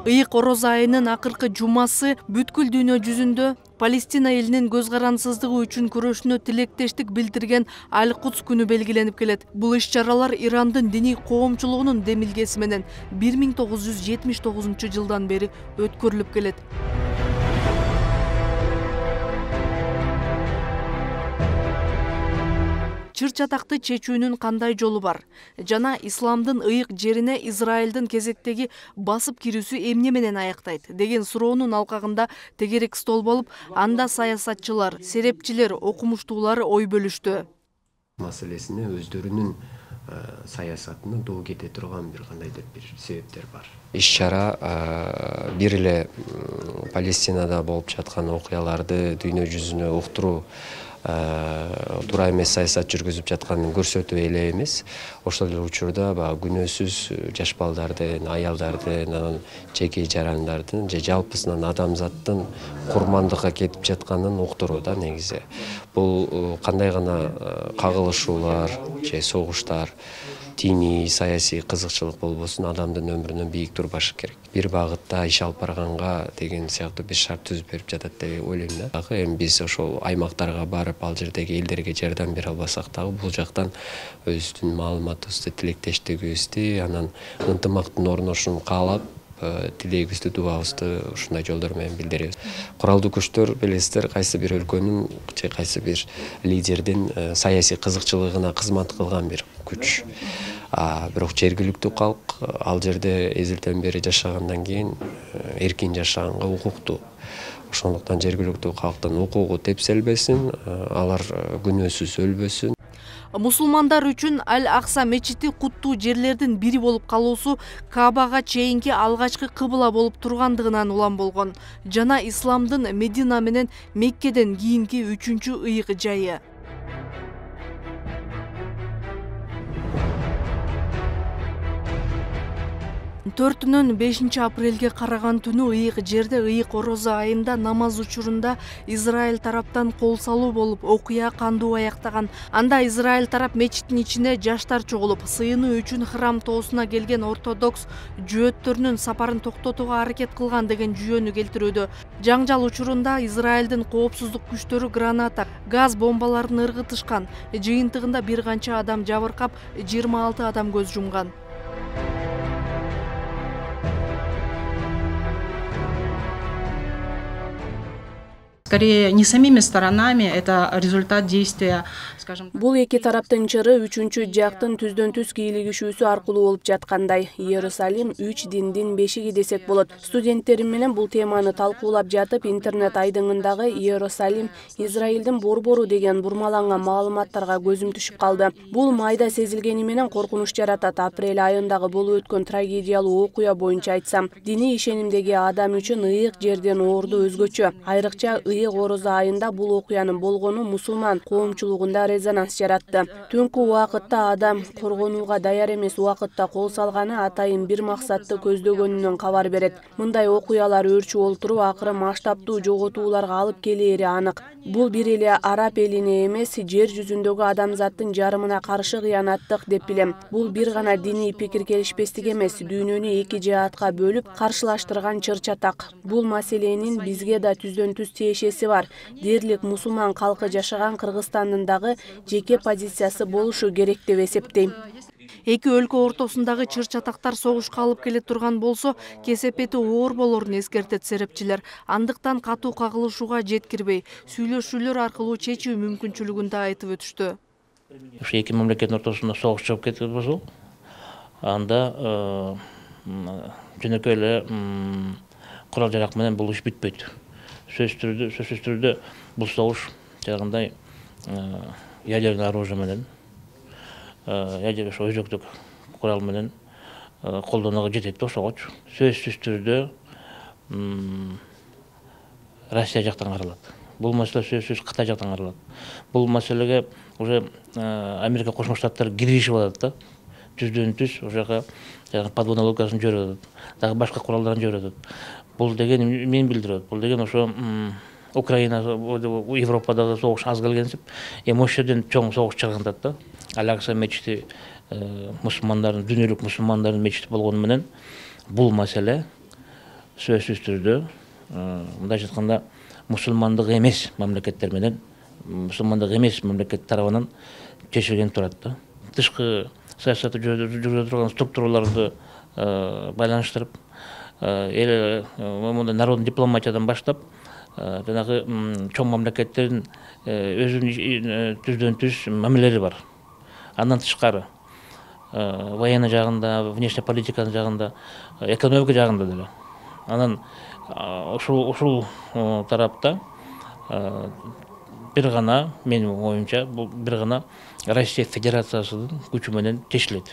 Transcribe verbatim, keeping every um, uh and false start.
Ыйык Орозо айынын акыркы жумасы бүткүл дүйнө жүзүндө Палестина элинин көз карансыздыгы үчүн күрөшүнө тилектештик билдирген Аль-Кудс күнү белгиленип келет. Бул иш-чаралар Ирандын диний коомчулугунун демилгеси менен бир миң тогуз жүз жетимиш тогузунчу жылдан бери өткөрүлүп келет. Чыр-чатакты чечүүнүн кандай жолу бар? Жана исламдын ыйык жерине Израилдин кезектеги басып кирүүсү эмне менен аяктайт деген суроонун алкагында тегерек стол болуп, анда саясатчылар, серепчилер, окумуштуулар ой бөлүштү. Маселесине өздөрүнүн саясатына доо кете турган бир кандайдыр бир себептер бар. Иш-чара бир эле Палестинада болуп жаткан окуяларды дүйнө жүзүнө уктуруу туура эмес саясат жүргүзүп жатканын көрсөтүү эле эмес, ошол эле учурда баягы күнөөсүз жаш балдардын, аялдардын, жеке жарандардын же жалпысынан адамзаттын курмандыкка кетип жатканын уктуруу да негизи. Бул кандай гана кагылышуулар же согуштар, диний, саясий кызыкчылык болбосун, адамдын өмүрүнөн бийик турбашы керек. Бир багытта иш алып барганга деген сыяктуу бир шарт түзүп берип жатат деп ойлойм да. Эми биз ошол аймактарга барып, ал жердеги элдерге жардам бере албасак дагы бул жактан өзүбүздүн маалыматыбызды, тилектештигибизди, анан ынтымактын орношун каалап, тилегибизди, дуабызды ушундай жолдор менен билдиребиз. Куралдуу күчтөр билесиздер, кайсы бир өлкөнүн же кайсы бир лидердин саясий кызыкчылыгына кызмат кылган бир күч. А бирок жергиликтүү калк ал жерде эзелден бери жашагандан кийин эркин жашаганга укуктуу. Ошондуктан жергиликтүү калктын укугу тепселбесин, алар күнөөсүз өлбөсүн. Мусулмандар үчүн Аль-Акса мечити куттуу жерлердин бири болуп калуусу Каабага чейинки алгачкы кыбла болуп тургандыгынан улам болгон жана исламдын Медина менен Меккеден кийинки үчүнчү ыйык жайы. төртүнөн бешинчи апрелге караган түнү ыйык жерде ыйык Орозо айында намаз учурунда Израиль тараптан кол салуу болуп, окуя кандуу аяктаган. Анда Израиль тарап мечиттин ичине жаштар чогулуп, сыйынуу үчүн храм тоосуна келген ортодокс жөөттөрүнүн сапарын токтотууга аракет кылган деген жүйөнү келтирүүдө. Жаңжал учурунда Израилдин коопсуздук күчтөрү граната, газ бомбаларын ыргытышкан. Жыйынтыгында бир канча адам жабыркап, жыйырма алты адам көз жумган. Скорее не самими сторонами, это результат действия, скажем так. Бул эки тараптын чыры үчүнчү жактын түздөн түз кийлигишүүсү аркылуу болуп жаткандай. Иерусалим үч диндин бешиги десек болот. Студенттерим менен бул теманы талкуулап жатып, интернет айдыңындагы Иерусалим Израилдин борбору деген бурмаланган маалыматтарга көзүм түшүп калды. Бул майда сезилгени менен коркунуч жаратат. Апрель айындагы болуп өткөн трагедиялуу окуя боюнча айтсам, диний ишенимдеги адам үчүн ыйык жерден оорду өзгөчө. Айрыкча ыйык Орозо айында бул окуянын болгону мусулман коомчулугунда резонанс жаратты. Түнкү убакытта адам коргонууга даяр эмес убакытта кол салганы атайын бир максатты көздөгөнүнөн кабар берет. Мындай окуялар өрчүп олтуруп, акыры масштабтуу жоготууларга алып келери анык. Бул бир эле араб элине эмес, жер жүзүндөгү адамзаттын жарымына каршы кыянаттык деп билем. Бул бир гана диний пикир келишпестик эмес, дүйнөнү эки жаатка бөлүп каршылаштырган чыр-чатак. Бул маселенин бизге да түздөн түз тиешеси бар. Дерлик мусулман калкы жашаган Кыргызстандын дагы жеке позициясы болушу керек деп эсептейм. Эки өлкө ортосундагы чыр-чатактар согушка алып келе турган болсо, кесепети оор болорун эскертет серепчилер. Андыктан катуу кагылышууга жеткирбей, сүйлөшүүлөр аркылуу чечүү мүмкүнчүлүгүн да айтып өтүштү. Ушу эки мамлекеттин ортосунда согуш чыгып кетти болсо, анда жөнөкөй эле курал жарак менен бул иш бүтпөйт. Сөзсүз түрдө, сөзсүз түрдө бул согуш жагындай ядерный оружие менен, ядерный ошо өзөктүк курал менен колдонууга жетет да ошогочу. Сөзсүз түрдө Россия жактан каралат. Бул маселе сөзсүз Кытай жактан каралат. Бул маселеге уже Америка Кошмо Штаттары киришип атат да. Түздөн түз ошо жака подводный лодкасын жиберип атат. Дагы башка куралдарын жиберип атат. Бул деген мен билдирет. Бул деген ошо Украина, Европадагы согуш аз келгенсип, эми ошол жерден чоң согуш чыгандат да. Аль-Акса мечити мусулмандардын дүйнөлүк мусулмандардын мечити болгону менен бул маселе сөзсүз түрдө мындайча айтканда мусулмандык эмес мамлекеттер менен мусулмандык эмес мамлекет тарабынан чечилген турат да. Тышкы саясатты жүргүзө турган структураларды байланыштырып, эл мындай народный дипломатиядан баштап жанагы чоң мамлекеттердин өзүнүн түздөн түз мамилелери бар. Андан тышкары военный жагында, внешний политика жагында, экономика жагында деле. Анан ушул ушул тарапта бир гана, менин оюмча, бул бир гана Россия Федерациясынын күчү менен чечилет.